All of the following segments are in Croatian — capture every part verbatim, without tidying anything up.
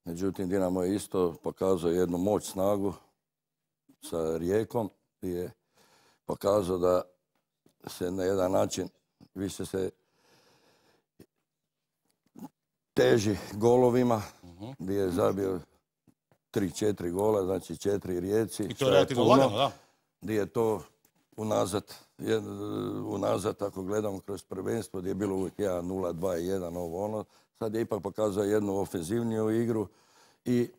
Međutim, Dinamo je isto pokazao jednu moć, snagu sa Rijekom i je pokazao da se na jedan način više se teži golovima, gdje je zabio tri četiri gola, znači četiri Rijeci. I to je relativno lagano, da. Gdje je to unazad, unazad ako gledamo kroz prvenstvo, gdje je bilo uvijek jedan nula, dva jedan, ovo ono. Sad je ipak pokazao jednu ofenzivniju igru i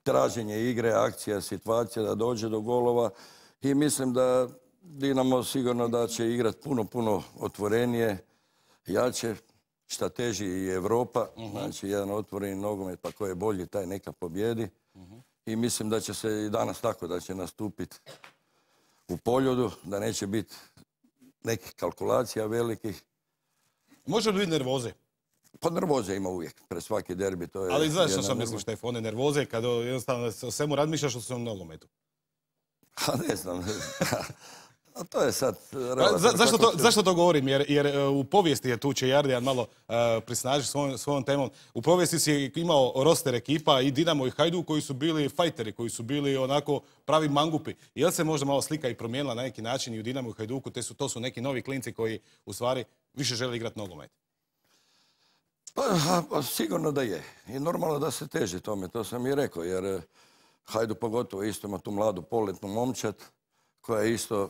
traženje igre, akcija, situacija da dođe do golova. I mislim da Dinamo sigurno da će igrati puno, puno otvorenije, jače, šta teži i Europa. Znači, jedan otvoreni nogomet, pa ko je bolji, taj neka pobjedi. I mislim da će se i danas tako, da će nastupiti u Poljudu, da neće biti nekih kalkulacija velikih. Može li biti nervoze? Pa nervoze ima uvijek, pred svaki derbi. To je. Ali znaš što sam mislim, Štef, one nervoze kada jednostavno o svemu razmišljaš o svom nogometu. A ne znam. A to je sad... Za, zašto, to, zašto to govorim? Jer, jer u povijesti je tu Čejardijan malo uh, prisnaži svojom, svojom temom. U povijesti si imao roster ekipa i Dinamo i Hajduk koji su bili fajteri, koji su bili onako pravi mangupi. Jel se možda malo slika i promijenila na neki način i u Dinamo i Hajduku? Te su, to su neki novi klinci koji u stvari više žele igrati nogomet. Pa, pa sigurno da je. I normalno da se teži tome, to sam i rekao. Jer Hajduk pogotovo isto ima tu mladu poletnu momčad koja je isto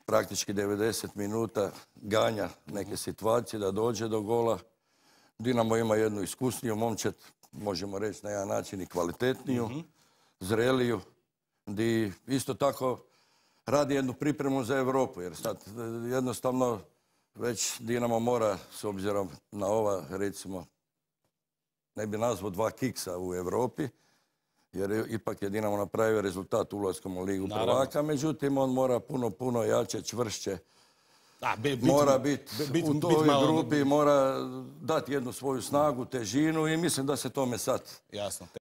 praktički devedeset minuta ganja neke situacije da dođe do gola. Dinamo ima jednu iskusniju momčad, možemo reći na jedan način i kvalitetniju, zreliju, gdje isto tako radi jednu pripremu za Europu. Jer sad jednostavno već Dinamo mora, s obzirom na ova, recimo, ne bi nazvao dva kiksa u Europi, jer ipak je Dinamo napravio rezultat ulaskom u Ligu prvaka, međutim on mora puno, puno jače, čvršće, A, be, bit, mora biti bit, u bit, toj bit malo... grupi, mora dati jednu svoju snagu, težinu i mislim da se tome sad Jasno.